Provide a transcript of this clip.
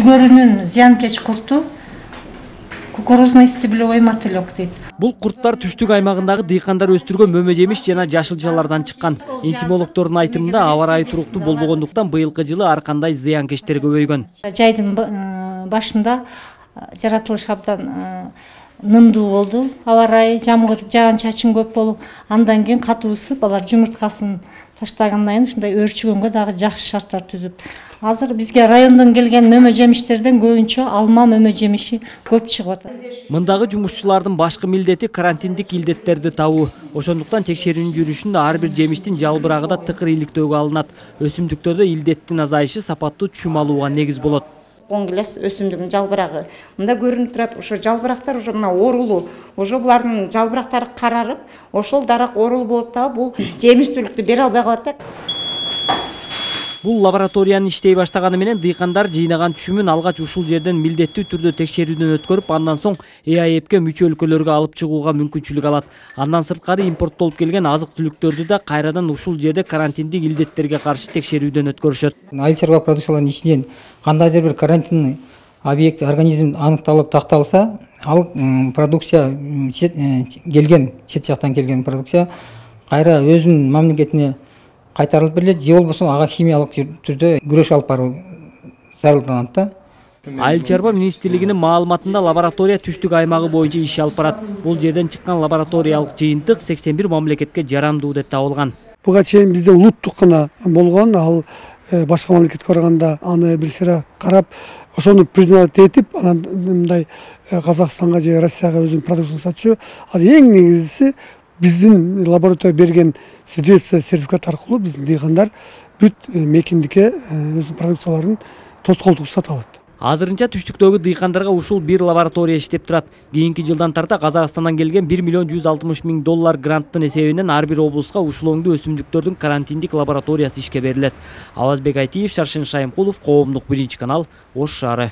үлгөрүнүн зыянкеч курту кукурузный стеблевой мотылек дейт. Бул курттар түштүк аймагындагы дыйкандар өстүргөн мөмө жемиш жана жашылчалардан чыккан. Энтомологдордун айтымында аба ырайы туруктуу болбогондуктан быйылкы жылы ар кандай зыянкечтер көбөйгөн. Жайдын башында жаратылыш абдан нымдуу болду. Аба ырайы, жамгыр, жаан-чачын көп болуп, андан кийин катуу ысып, алар жумурткасын таштагандан кийин ушундай өөрчүгөнгө дагы жакшы шарттар түзүп. Азыр бизге райондон келген мөмө жемиштерден көбүнчө алма мөмө жемиши көп чыгып атат. Мындагы жумушчулардын башкы милдети карантиндик илдеттерди табуу. Ошондуктан текшерүүнүн жүрүшүндө ар бир жемиштин жалбырагы да тыкыр иликтөөгө алынат. Өсүмдүктөрдө илдеттин азайышы сапаттуу чүм алууга негиз болот. Коңгилес өсүмдүктүн жалбырагы мында көрүнүп турат. Ошо жалбырактар уже мына оорулуу. Ошо булардын жалбырактары карарып, ошол дарак оорулуу болот да, бул жемиштүүлүктү бере албай калат да. Бул лабораториянын иштей баштаганы менен дыйкандар жыйнаган түшүмүн алгач ушул жерден милдеттүү түрдө текшерүүдөн өткөрүп, андан соң ЭАЭПке мүчө өлкөлөргө алып чыгууга мүмкүнчүлүк алат. Андан сырткары импорттолуп келген азык-түлүктөрдү да кайрадан ушул жерде карантиндик илдеттерге каршы текшерүүдөн өткөрүшөт. Айыл чарба продукцияларынын ичинен кандайдыр бир карантиндик объект организм аныкталып такталса, ал продукция келген чет жактан келген продукция кайра өзүнүн мамлекетине кайтарылып берилет, же болбосо ага химиялык түрдө күрөш алып баруу зарылданат да. Айыл чарба министрлигинин маалыматында лаборатория түштүк аймагы боюнча иш алып барат. Бул жерден чыккан лабораториялык жыйынтык 81 мамлекетке жарандуу деп табылган. Буга чейин бизде улуттук гана болгон, ал башка мамлекетке барганда аны бир сыйра карап, ошону признавать этип, анан мындай Казакстанга же Россияга өзүнүн продукциясын сатчу. Азыр эң негизгиси биздин лаборатория берген сертификат аркылуу биздин дыйкандар бүт мекендикке өзүнүн продукцияларын тоскоолдук сата алат. Азырынча түштүктөгү дыйкандарга ушул бир лаборатория иштеп турат. Кийинки жылдан тарта Казакстандан келген $1 160 000 гранттын эсебинен ар бир облуска ушул оңдуу өсүмдүктөрдүн карантиндик лабораториясы ишке берилет. Авазбек Айтиев, Шаршын Шайымкулов, Коомдук 1 канал, Ош шаары.